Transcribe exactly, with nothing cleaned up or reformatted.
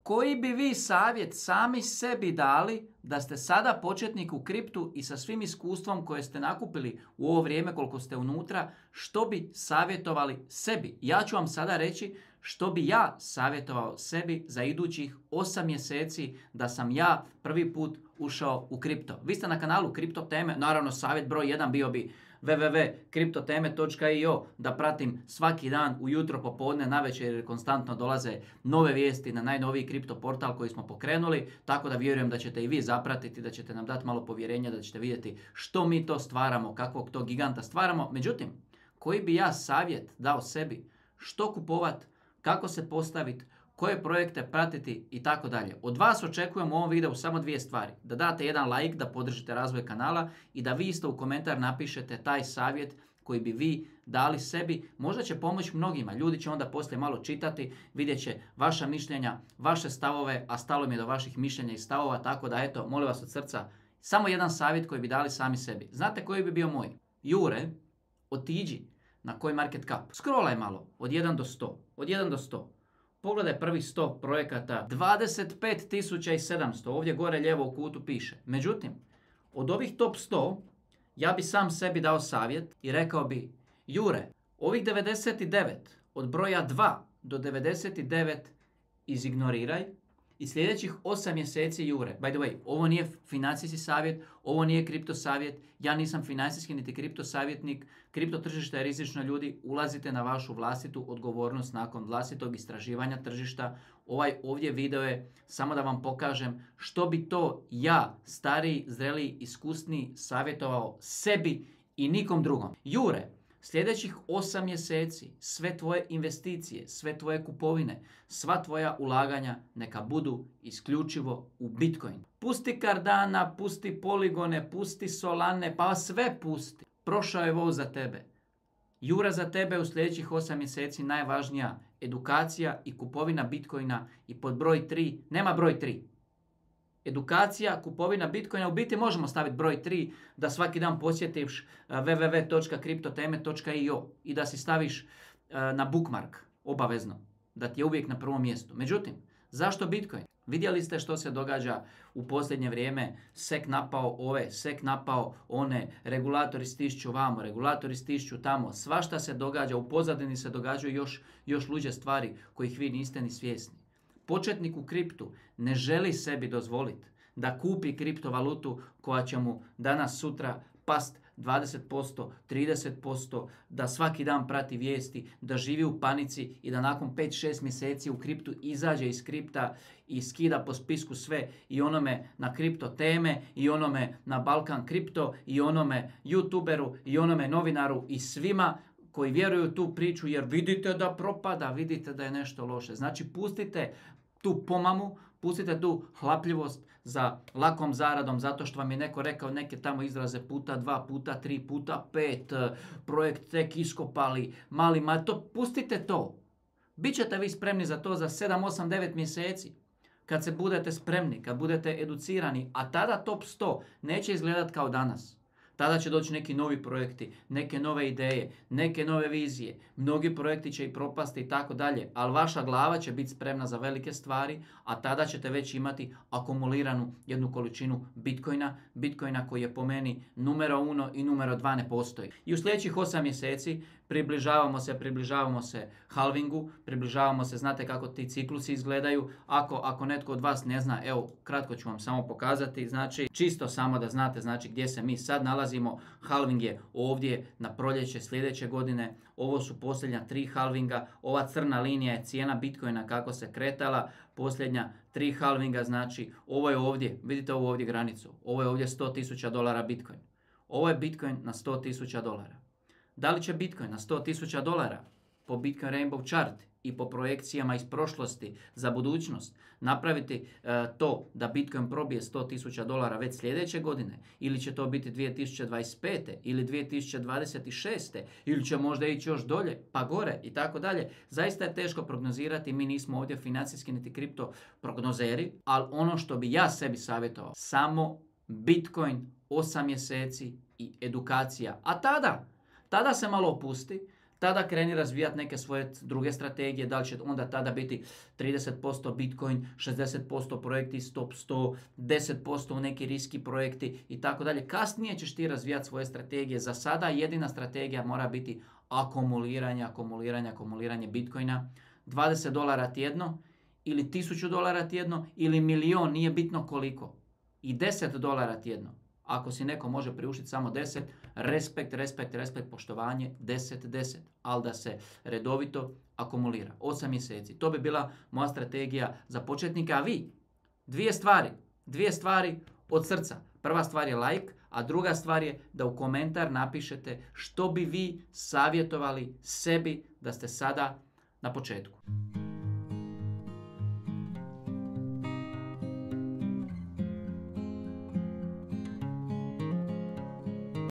koji bi vi savjet sami sebi dali da ste sada početnik u kriptu i sa svim iskustvom koje ste nakupili u ovo vrijeme koliko ste unutra, što bi savjetovali sebi? Ja ću vam sada reći što bi ja savjetovao sebi za idućih osam mjeseci da sam ja prvi put ušao u kripto. Vi ste na kanalu Kripto teme, naravno savjet broj jedan bio bi w w w točka kriptoteme točka i o da pratim svaki dan ujutro, popodne, navečer jer konstantno dolaze nove vijesti na najnoviji kripto portal koji smo pokrenuli, tako da vjerujem da ćete i vi zapratiti, da ćete nam dati malo povjerenja, da ćete vidjeti što mi to stvaramo, kakvog to giganta stvaramo. Međutim, koji bi ja savjet dao sebi, što kupovat, kako se postaviti, koje projekte pratiti i tako dalje. Od vas očekujem u ovom videu samo dvije stvari. Da date jedan like, da podržite razvoj kanala i da vi isto u komentar napišete taj savjet koji bi vi dali sebi. Možda će pomoći mnogima. Ljudi će onda poslije malo čitati, vidjet će vaša mišljenja, vaše stavove, a stalo mi je do vaših mišljenja i stavova, tako da eto, molim vas od srca, samo jedan savjet koji bi dali sami sebi. Znate koji bi bio moj? Jure, otiđi na CoinMarketCap. Scrollaj malo, od jedan do sto. Od jedan do sto. Pogledaj prvih sto projekata, dvadeset pet tisuća sedamsto, ovdje gore lijevo u kutu piše. Međutim, od ovih top sto, ja bi sam sebi dao savjet i rekao bi, Jure, ovih devedeset devet, od broja dva do devedeset devet izignoriraj i sljedećih osam mjeseci, Jure, by the way, ovo nije financijski savjet, ovo nije kripto savjet, ja nisam financijski niti kripto savjetnik, kripto tržište je rizično, ljudi, ulazite na vašu vlastitu odgovornost nakon vlastitog istraživanja tržišta. Ovaj ovdje video je samo da vam pokažem što bi to ja, stariji, zreliji, iskusniji, savjetovao sebi i nikom drugom. Jure, sljedećih osam mjeseci sve tvoje investicije, sve tvoje kupovine, sva tvoja ulaganja neka budu isključivo u Bitcoin. Pusti Cardana, pusti Poligone, pusti Solane, pa sve pusti. Prošao je voz za tebe. Jura, za tebe u sljedećih osam mjeseci najvažnija edukacija i kupovina Bitcoina i pod broj tri, nema broj tri. Edukacija, kupovina Bitcoina, u biti možemo staviti broj tri da svaki dan posjetiš w w w točka kriptoteme točka i o i da si staviš na bookmark, obavezno, da ti je uvijek na prvom mjestu. Međutim, zašto Bitcoin? Vidjeli ste što se događa u posljednje vrijeme, sek napao ove, sek napao one, regulatori stišću vamo, regulatori stišću tamo, svašta se događa, u pozadini se događaju još, još luđe stvari kojih vi niste ni svjesni. Početnik u kriptu ne želi sebi dozvoliti da kupi kriptovalutu koja će mu danas sutra past dvadeset posto, trideset posto, da svaki dan prati vijesti, da živi u panici i da nakon pet šest mjeseci u kriptu izađe iz kripta i skida po spisku sve i onome na kripto teme i onome na Balkan kripto i onome youtuberu i onome novinaru i svima koji vjeruju u tu priču jer vidite da propada, vidite da je nešto loše. Znači pustite tu pomamu, pustite tu hlapljivost za lakom zaradom zato što vam je neko rekao neke tamo izraze puta dva, puta tri, puta pet, projekt tek iskopali, mali, ma to, pustite to. Bićete vi spremni za to za sedam, osam, devet mjeseci. Kad se budete spremni, kad budete educirani, a tada top sto neće izgledati kao danas. Tada će doći neki novi projekti, neke nove ideje, neke nove vizije. Mnogi projekti će i propasti i tako dalje, ali vaša glava će biti spremna za velike stvari, a tada ćete već imati akumuliranu jednu količinu Bitcoina, Bitcoina koji je po meni numero uno i numero dva ne postoji. I u sljedećih osam mjeseci približavamo se, približavamo se halvingu, približavamo se, znate kako ti ciklusi izgledaju. Ako, ako netko od vas ne zna, evo, kratko ću vam samo pokazati, znači, čisto samo da znate, znači, gdje se mi sad nalazimo. Halving je ovdje na proljeće sljedeće godine, ovo su posljednja tri halvinga, ova crna linija je cijena Bitcoina kako se kretala, posljednja tri halvinga, znači, ovo je ovdje, vidite ovu ovdje granicu, ovo je ovdje sto tisuća dolara Bitcoin. Ovo je Bitcoin na sto tisuća dolara. Da li će Bitcoin na sto tisuća dolara po Bitcoin Rainbow Chart i po projekcijama iz prošlosti za budućnost napraviti e, to da Bitcoin probije sto tisuća dolara već sljedeće godine, ili će to biti dvije tisuće dvadeset pete ili dvije tisuće dvadeset šeste ili će možda ići još dolje pa gore i tako dalje. Zaista je teško prognozirati, mi nismo ovdje financijski niti kripto prognozeri, ali ono što bi ja sebi savjetovao, samo Bitcoin osam mjeseci i edukacija. A tada, tada se malo opusti, tada kreni razvijati neke svoje druge strategije, da li će onda tada biti trideset posto Bitcoin, šezdeset posto projekti stop sto, deset posto u neki riski projekti i tako dalje. Kasnije ćeš ti razvijati svoje strategije. Za sada jedina strategija mora biti akumuliranje, akumuliranje, akumuliranje Bitcoina. dvadeset dolara tjedno ili tisuću dolara tjedno ili milion, nije bitno koliko. I deset dolara tjedno. Ako si neko može priuštiti samo deset, respekt, respekt, respekt, poštovanje, deset, deset. Ali da se redovito akumulira. osam mjeseci. To bi bila moja strategija za početnika. A vi, dvije stvari, dvije stvari od srca. Prva stvar je like, a druga stvar je da u komentar napišete što bi vi savjetovali sebi da ste sada na početku.